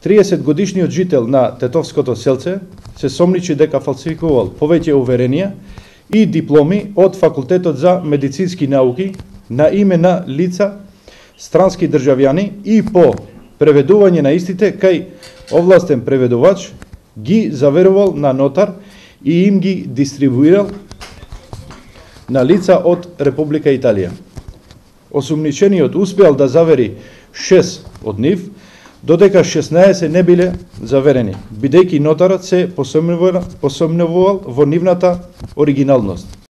30-годишниот жител на Тетовското селце се сомничи дека фалсификувал повеќе уверенија и дипломи од Факултетот за медицински науки на име на лица странски државјани и по преведување на истите кај овластен преведувач ги заверувал на нотар и им ги дистрибуирал на лица од Република Италија. Осумничениот успеал да завери 6 од нив, додека 16 не биле заверени, бидејќи нотарот се посомневувал во нивната оригиналност.